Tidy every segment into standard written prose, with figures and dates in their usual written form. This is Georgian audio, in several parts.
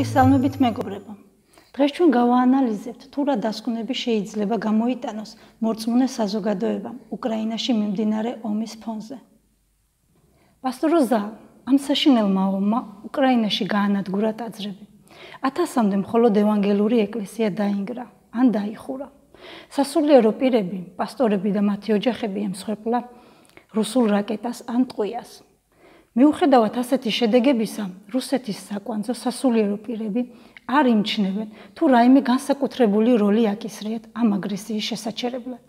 მოგესალმებით მეგობრებო. დღეს ჩვენ გავაანალიზებთ თუ რა დასკვნები შეიძლება გამოიტანოს მორწმუნე საზოგადოებამ უკრაინაში მიმდინარე ომის ფონზე. პასტორ ზალ ამ საშინელმა ომმა უკრაინაში გაანადგურა ტაძრები. 1000-მდე მხოლოდ ევანგელური ეკლესია დაინგრა ან დაიხურა. სასულიერო პირები, პასტორები და მათი ოჯახები ემსხვერპლა რუსულ რაკეტას ან ტყვიას. მიუხედავად ასეთი შედეგებისა, რუსეთის საკვანძო სასულიერო პირები არ იმჩნევენ თუ რაიმე განსაკუთრებული როლი აკისრიათ ამ აგრესიის შესაჩერებლად.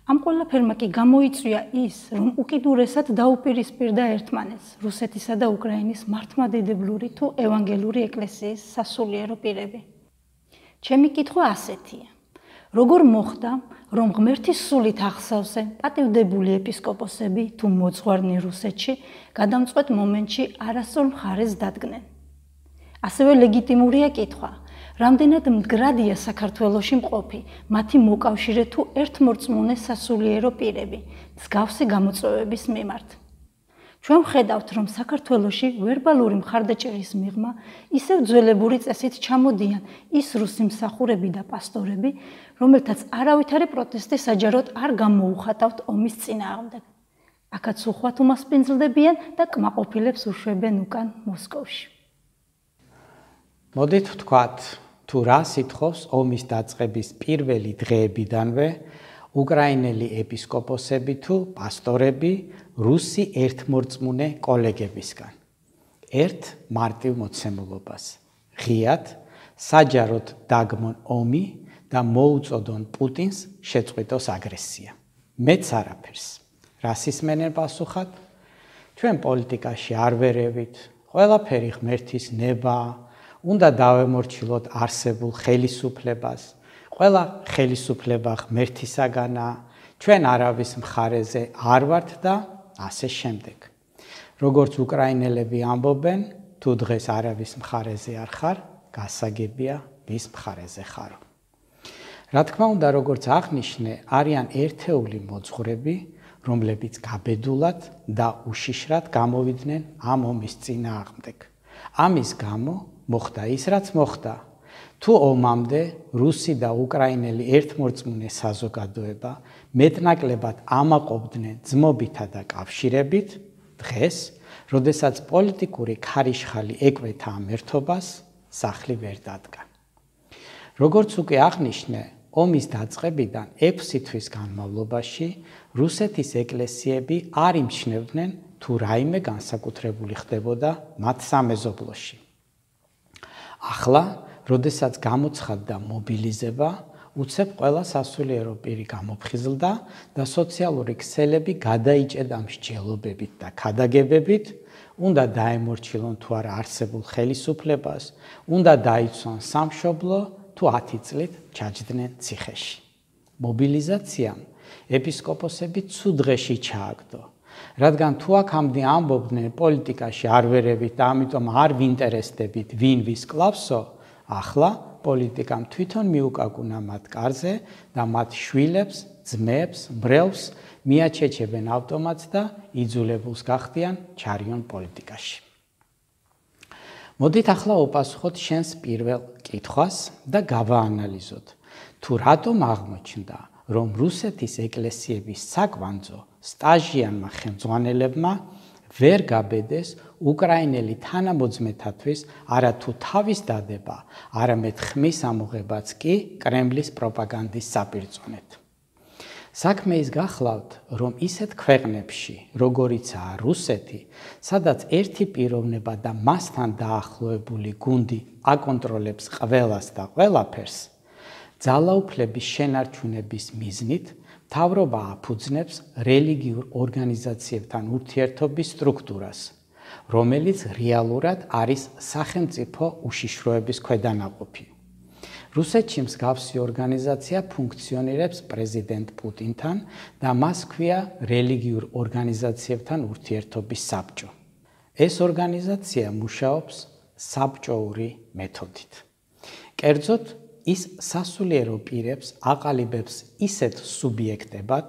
ამ ყველაფერმა კი გამოიწვია ის, რომ უკიდურესად დაუპირისპირდა ერთმანეთს რუსეთისა და უკრაინის მართლმადიდებლური თუ ევანგელური ეკლესიის სასულიერო პირები. ჩემი კითხვა ასეთია. როგორ მოხდა, რომ ღმერთის სულით აღსავსე პატივდებული ეპისკოპოსები თუ მოძღვარნი რუსეთში გადამწყვეტ მომენტში არასწორ მხარეს დადგნენ? ასევე ლეგიტიმურია კითხვა, რამდენად მდგრადია საქართველოში მყოფი მათი მოკავშირე თუ ერთმორწმუნე სასულიერო პირები მსგავსი გამოწვევების მიმართ. ჩვენ ვხედავთ, რომ საქართველოში ვერბალური მხარდაჭერის მიღმა ისევ ძველებური წესით ჩამოდიან ის რუსი მსახურები და პასტორები, რომელთაც არავითარი პროტესტი საჯაროდ არ გამოუხატავთ ომის წინააღმდეგ. აქაც უხვად უმასპინძლდებიან და კმაყოფილებს უშვებენ უკან მოსკოვში. მოდით ვთქვათ, თუ რა სიტყავს ომის დაწყების პირველი დღეებიდანვე უკრაინელი ეპისკოპოსები თუ პასტორები რუსი ერთმორწმუნე კოლეგებისგან. ერთ მარტივ მოცემულობას. ღიად, საჯაროდ დაგმონ ომი და მოუწოდონ პუტინს შეწყვიტოს აგრესია. მეც არაფერს. რას ისმენენ პასუხად? ჩვენ პოლიტიკაში არ ვერევით, ყველაფერი ღმერთის ნებაა, უნდა დავემორჩილოთ არსებულ ხელისუფლებას. ყველა ხელისუფლება ღმერთისაგანაა, ჩვენ არავის მხარეზე არ ვართ და ასე შემდეგ. როგორც უკრაინელები ამბობენ, თუ დღეს არავის მხარეზე არ ხარ, გასაგებია ვის მხარეზე ხარო. რა თქმა უნდა, როგორც აღნიშნე, არიან ერთეული მოძღვრები, რომლებიც გაბედულად და უშიშრად გამოვიდნენ ამ ომის წინააღმდეგ. ამის გამო მოხდა ის, რაც მოხდა. თუ ომამდე რუსი და უკრაინელი ერთმორწმუნე საზოგადოება მეტნაკლებად ამაყობდნენ ძმობითა და კავშირებით, დღეს, როდესაც პოლიტიკური ქარიშხალი ეკვეთა ამ ერთობას, სახლი ვერ დადგა. როგორც უკვე აღნიშნე, ომის დაწყებიდან 6 თვის განმავლობაში რუსეთის ეკლესიები არ იმჩნევდნენ თუ რაიმე განსაკუთრებული ხდებოდა მათ სამეზობლოში. ახლა, როდესაც გამოცხადდა მობილიზება, უცებ ყველა სასულიერო პირი გამოფხიზლდა და სოციალური ქსელები გადაიჭედა მსჯელობებით და ქადაგებებით, უნდა დაემორჩილონ თუ არა არსებულ ხელისუფლებას, უნდა დაიცვან სამშობლო თუ 10 წლით ჩაჯდნენ ციხეში. მობილიზაციამ ეპისკოპოსები ცუდ დღეში ჩააგდო. რადგან თუ აქამდე ამბობდნენ პოლიტიკაში არ ვერევით და ამიტომ არ ვინტერესდებით ვინ ვის კლავსო, ახლა პოლიტიკამ თვითონ მიუკაკუნა მათ კარზე და მათ შვილებს, ძმებს, მბრელს მიაჩეჩებენ ავტომატს და იძულებულს გახდიან ჩარიონ პოლიტიკაში. მოდით ახლა უპასუხოთ შენს პირველ კითხვას და გავაანალიზოთ, თუ რატომ აღმოჩნდა, რომ რუსეთის ეკლესიების საკვანძო სტაჟიანმა ხელმძღვანელებმა ვერ გაბედეს უკრაინელი თანამოძმეთათვის არათუ თავის დადება, არამედ ხმის ამოღებაც კი კრემლის პროპაგანდის საპირწონედ. საქმე ის გახლავთ, რომ ისეთ ქვეყნებში, როგორიცაა რუსეთი, სადაც ერთი პიროვნება და მასთან დაახლოებული გუნდი აკონტროლებს ყველას და ყველაფერს, ძალაუფლების შენარჩუნების მიზნით მთავრობა აფუძნებს რელიგიურ ორგანიზაციებთან ურთიერთობის სტრუქტურას, რომელიც რეალურად არის სახელმწიფო უშიშროების ქვედანაყოფი. რუსეთში მსგავსი ორგანიზაცია ფუნქციონირებს პრეზიდენტ პუტინთან და მას ჰქვია რელიგიურ ორგანიზაციებთან ურთიერთობის საბჭო. ეს ორგანიზაცია მუშაობს საბჭოური მეთოდით. კერძოდ, ის სასულიერო პირებს აყალიბებს ისეთ სუბიექტებად,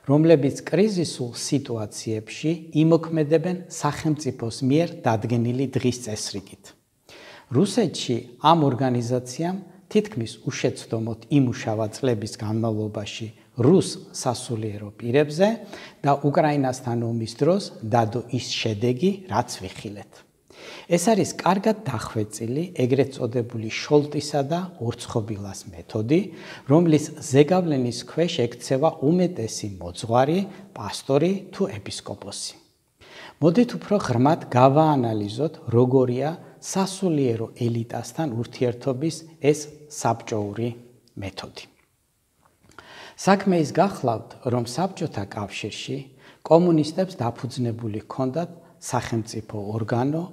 რომლებიც კრიზისულ სიტუაციებში იმოქმედებენ სახელმწიფოს მიერ დადგენილი დღის წესრიგით. რუსეთში ამ ორგანიზაციამ თითქმის უშეცდომოდ იმუშავა წლების განმავლობაში რუს სასულიერო პირებზე და უკრაინასთან ომის დროს დადო ის შედეგი, რაც ვიხილეთ. ეს არის კარგად დახვეწილი ეგრეთ წოდებული შოლტისა და ორცხობილას მეთოდი, რომლის ზეგავლენის ქვეშ ექცევა უმეტესი მოძღვარი, პასტორი თუ ეპისკოპოსი. მოდით უფრო ღრმად გავაანალიზოთ, როგორია სასულიერო ელიტასთან ურთიერთობის ეს საბჭოური მეთოდი. საქმე ის გახლავთ, რომ საბჭოთა კავშირში კომუნისტებს დაფუძნებული ჰქონდათ სახელმწიფო ორგანო,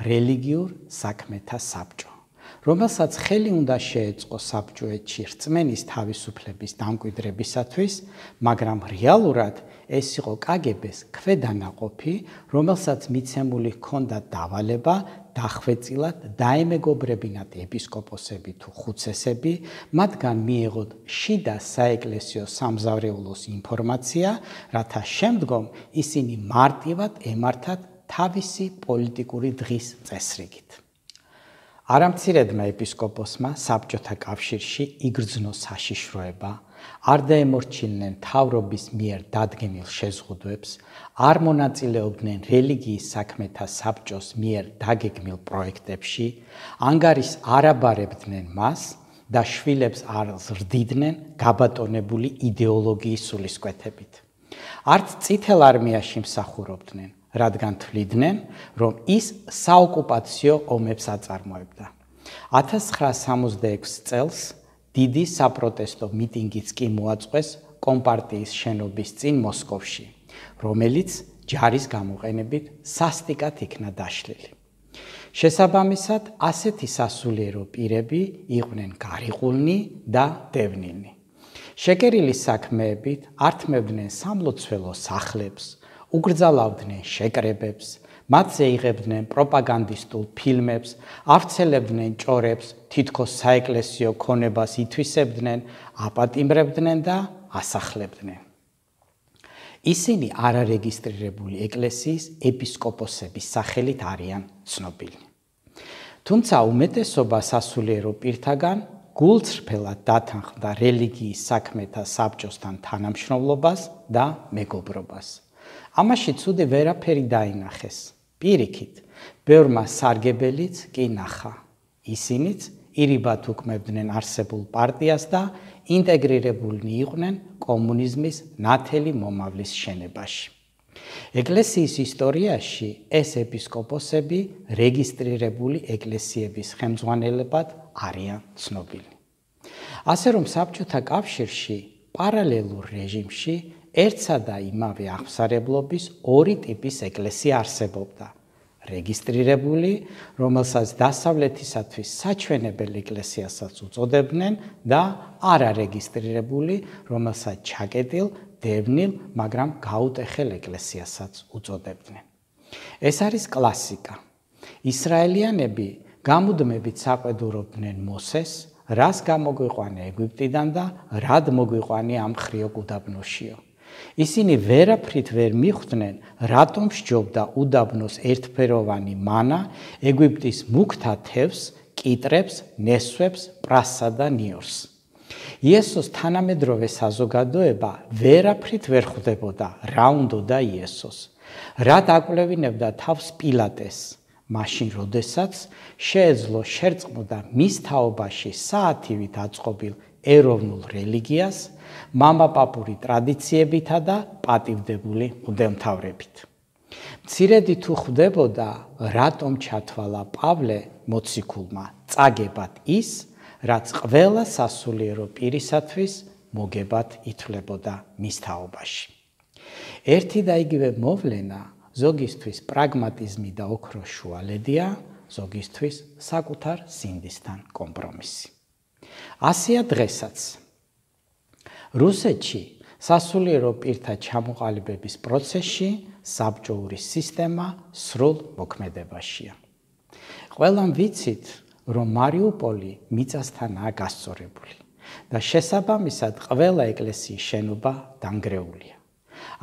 რელიგიურ საქმეთა საბჭო, რომელსაც ხელი უნდა შეეწყო საბჭოეთში რწმენის თავისუფლების დამკვიდრებისათვის, მაგრამ რეალურად ეს იყო კგბ-ს ქვედანაყოფი, რომელსაც მიცემული ჰქონდა დავალება დახვეწილად დაემეგობრებინათ ეპისკოპოსები თუ ხუცესები, მათგან მიეღოთ შიდა საეკლესიო სამზარეულოს ინფორმაცია, რათა შემდგომ ისინი მარტივად ემართათ თავისი პოლიტიკური დღის წესრიგით. არამცირედმა ეპისკოპოსმა საბჭოთა კავშირში იგრძნო საშიშროება, არ დაემორჩილნენ მთავრობის მიერ დადგენილ შეზღუდვებს, არ მონაწილეობდნენ რელიგიის საქმეთა საბჭოს მიერ დაგეგმილ პროექტებში, ანგარის არ აბარებდნენ მას და შვილებს არ ზრდიდნენ გაბატონებული იდეოლოგიის სულისკვეთებით. არც წითელ არმიაში მსახურობდნენ, რადგან თვლიდნენ, რომ ის საოკუპაციო ომებს აწარმოებდა. 1966 წელს დიდი საპროტესტო მიტინგიც კი მოაწყვეს კომპარტიის შენობის წინ მოსკოვში, რომელიც ჯარის გამოყენებით სასტიკად იქნა დაშლილი. შესაბამისად, ასეთი სასულიერო პირები იყვნენ გარიყულნი და დევნილნი. შეკერილი საქმეებით ართმევდნენ სამლოცველო სახლებს, უგრძალავდნენ შეკრებებს, მათზე იღებდნენ პროპაგანდისტულ ფილმებს, ავრცელებდნენ ჭორებს, თითქოს საეკლესიო ქონებას ითვისებდნენ, აპატიმრებდნენ და ასახლებდნენ. ისინი არარეგისტრირებული ეკლესიის ეპისკოპოსების სახელით არიან ცნობილი. თუმცა უმეტესობა სასულიერო პირთაგან გულწრფელად დათანხმდა რელიგიის საქმეთა საბჭოსთან თანამშრომლობას და მეგობრობას. ამაში ცუდი ვერაფერი დაინახეს. პირიქით, ბევრმა სარგებელიც კი ნახა. ისინიც ირიბად უკმებდნენ არსებულ პარტიას და ინტეგრირებულნი იყვნენ კომუნიზმის ნათელი მომავლის შენებაში. ეკლესიის ისტორიაში ეს ეპისკოპოსები რეგისტრირებული ეკლესიების ხელმძღვანელებად არიან ცნობილი. ასე რომ საბჭოთა კავშირში პარალელურ რეჟიმში ერთსა და იმავე აღმსარებლობის ორი ტიპის ეკლესია არსებობდა. რეგისტრირებული, რომელსაც დასავლეთისათვის საჩვენებელ ეკლესიასაც უწოდებდნენ და არარეგისტრირებული, რომელსაც ჩაკეტილ, დევნილ, მაგრამ გაუტეხელ ეკლესიასაც უწოდებდნენ. ეს არის კლასიკა. ისრაელიანები გამუდმებით საყვედურობდნენ მოსეს, რას გამოგვიყვანე ეგვიპტიდან და რად მოგვიყვანე ამ ხრიოკ უდაბნოშიო. ისინი ვერაფრით ვერ მიხვდნენ, რატომ სჯობდა უდაბნოს ერთფეროვანი მანა ეგვიპტის მუქთა თევზს, კიტრებს, ნესვებს, პრასსა და ნიორს. იესოს თანამედროვე საზოგადოება ვერაფრით ვერ ხვდებოდა, რა უნდოდა იესოს. რა დაკვლევინებდა თავს პილატეს, მაშინ როდესაც შეეძლო შერწყმოდა მის თაობაში საათივით აწყობილ ეროვნულ რელიგიას, მამაპაპური ტრადიციებითა და პატივდებული მღვდელმთავრებით. მცირედი თუ ხვდებოდა, რატომ ჩათვალა პავლე მოციქულმა წაგებად ის, რაც ყველა სასულიერო პირისათვის მოგებად ითვლებოდა მის თაობაში. ერთი და იგივე მოვლენა ზოგისთვის პრაგმატიზმი და ოქროს შუალედია, ზოგისთვის საკუთარ სინდისთან კომპრომისი. ასეა დღესაც. რუსეთში სასულიერო პირთა ჩამოყალიბების პროცესში საბჭოური სისტემა სრულ მოქმედებაშია. ყველამ ვიცით, რომ მარიუპოლი მიწასთანაა გასწორებული და შესაბამისად ყველა ეკლესიის შენობა დანგრეულია.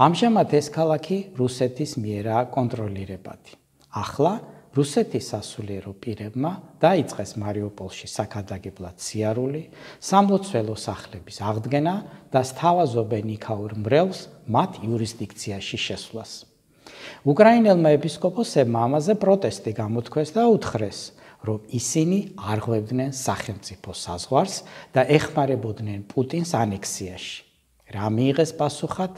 ამჟამად ეს ქალაქი რუსეთის მიერაა კონტროლირებადი. ახლა რუსეთის სასულიერო პირებმა დაიწყეს მარიუპოლში საქადაგებლად სიარული, სამლოცველო სახლების აღდგენა და სთავაზობენ იქაურ მრევლს მათ იურისდიქციაში შესვლას. უკრაინელმა ეპისკოპოსებმა ამაზე პროტესტი გამოთქვეს და უთხრეს, რომ ისინი არღვევდნენ სახელმწიფო საზღვარს და ეხმარებოდნენ პუტინს ანექსიაში. რა მიიღეს პასუხად?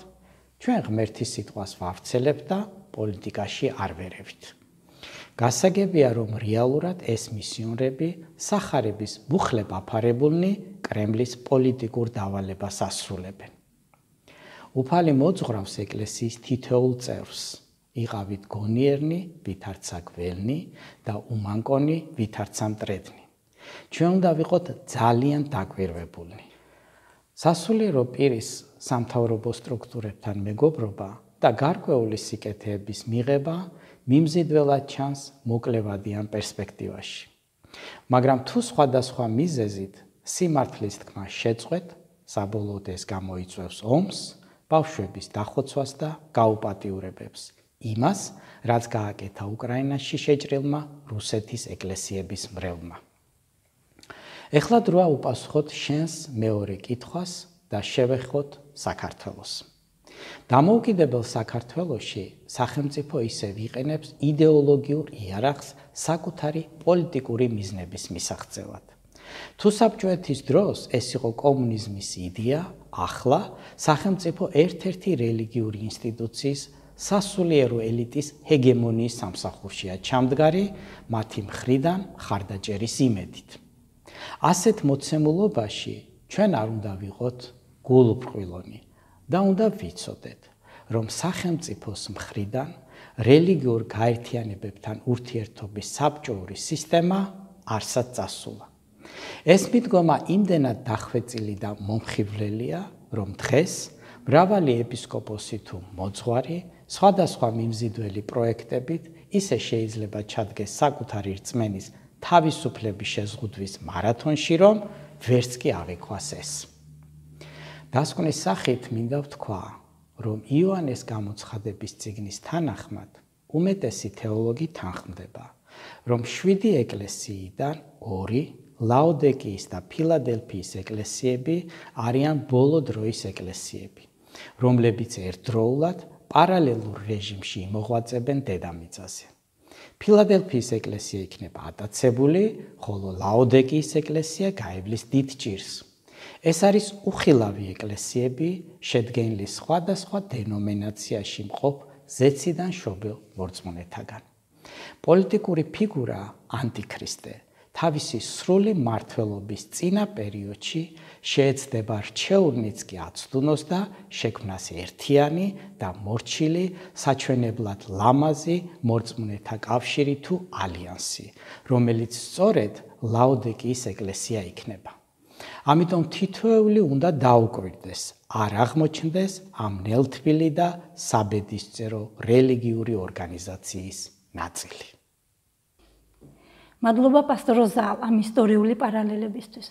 ჩვენ ღმერთის სიტყვას ვავრცელებთ და პოლიტიკაში არ ვერევით. გასაგებია, რომ რეალურად ეს მისიონერები სახარების მუხლებ აფარებულნი კრემლის პოლიტიკურ დავალებას ასრულებენ. უფალი მოძღვრავს ეკლესიის თითოეულ წევრს. იყავით გონიერნი, ვითარცა გველნი და უმანკონი, ვითარცა მტრედნი. ჩვენ უნდა ვიყოთ ძალიან დაკვირვებულნი. სასულიერო პირის სამთავრობო სტრუქტურებთან მეგობრობა და გარკვეული სიკეთეების მიღება მიმზიდველად ჩანს მოკლევადიან პერსპექტივაში. მაგრამ თუ სხვადასხვა მიზეზით სიმართლის თქმა შეწყვეტ, საბოლოოდ ეს გამოიწვევს ომს, ბავშვების დახოცვას და გაუპატიურებებს. იმას, რაც გააკეთა უკრაინაში შეჭრილმა რუსეთის ეკლესიების მრევლმა. ეხლა დროა უპასუხოთ შენს მეორე კითხვას და შევეხოთ საქართველოს. დამოუკიდებელ საქართველოში სახელმწიფო ისევ იყენებს იდეოლოგიურ იარაღს საკუთარი პოლიტიკური მიზნების მისაღწევად. თუ საბჭოეთის დროს ეს იყო კომუნიზმის იდეა, ახლა სახელმწიფო ერთ-ერთი რელიგიური ინსტიტუციის სასულიერო ელიტის ჰეგემონიის სამსახურშია ჩამდგარი მათი მხრიდან მხარდაჭერის იმედით. ასეთ მოცემულობაში ჩვენ არ უნდა ვიყოთ გულუბრყვილონი და უნდა ვიცოდეთ, რომ სახელმწიფოს მხრიდან რელიგიურ გაერთიანებებთან ურთიერთობის საბჭოური სისტემა არსად წასულა. ეს მიდგომა იმდენად დახვეწილი და მომხიბვლელია, რომ დღეს მრავალი ეპისკოპოსი თუ მოძღვარი სხვადასხვა მიმზიდველი პროექტებით ისე შეიძლება ჩადგეს საკუთარი რწმენის თავისუფლების შეზღუდვის მარათონში, რომ ვერც კი აღიქვას ეს. დასკვნის სახით მინდა ვთქვა, რომ იოანეს გამოცხადების წიგნის თანახმად უმეტესი თეოლოგი თანხმდება, რომ 7 ეკლესიიდან 2 ლაოდიკიის და ფილადელფიის ეკლესიები არიან ბოლო დროის ეკლესიები, რომლებიც ერთდროულად პარალელურ რეჟიმში იმოღვაწებენ დედამიწაზე. ფილადელფიის ეკლესია იქნება ატაცებული, ხოლო ლაოდიკიის ეკლესია გაივლის დიდ ჭირს. ეს არის უხილავი ეკლესიები, შედგენილი სხვადასხვა დენომინაციაში მყოფ ზეციდან შობილ მორწმუნეთაგან. პოლიტიკური ფიგურა ანტიქრისტე თავისი სრული მმართველობის წინა პერიოდში შეეცდება რჩეულნიც კი აცდუნოს და შექმნას ერთიანი და მორჩილი საჩვენებლად ლამაზი მორწმუნეთა კავშირი თუ ალიანსი, რომელიც სწორედ ლაოდიკიის ეკლესია იქნება. ამიტომ თითოეული უნდა დაუკვირდეს, არ აღმოჩნდეს ამ ნელთბილი და საბედისწერო რელიგიური ორგანიზაციის ნაწილი. მადლობა პასტორ ზალ ამ ისტორიული პარალელებისთვის.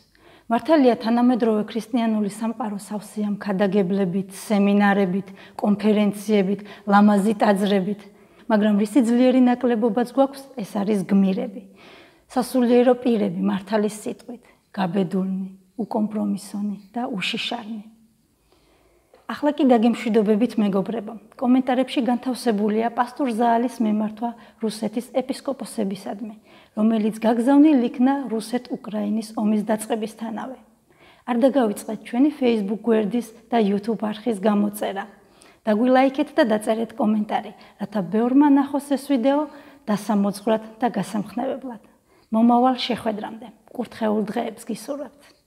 მართალია თანამედროვე ქრისტიანული სამყარო სავსეა მქადაგებლებით, სემინარებით, კონფერენციებით, ლამაზი ტაძრებით, მაგრამ რისი ძლიერი ნაკლებობაც გვაქვს, ეს არის გმირები. სასულიერო პირები მართალის სიტყვით, გაბედულნი, უკომპრომისონი და უშიშარნი. ახლა კი დაგემშვიდობებით მეგობრებო. კომენტარებში განთავსებულია პასტორ ზაალის მემართვა რუსეთის ეპისკოპოსებისადმი, რომელიც გაგზავნილ იქნა რუსეთ-უკრაინის ომის დაწყებისთანავე. არ დაგავიწყეთ ჩვენი Facebook გვერდის და YouTube არხის გამოწერა. დაგვილაიქეთ და დაწერეთ კომენტარი, რათა ბევრმა ნახოს ეს ვიდეო დასამოძღვრად და გასამხნევებლად. მომავალ შეხვედრამდე. კურთხეულ დღეებს გისურვებთ.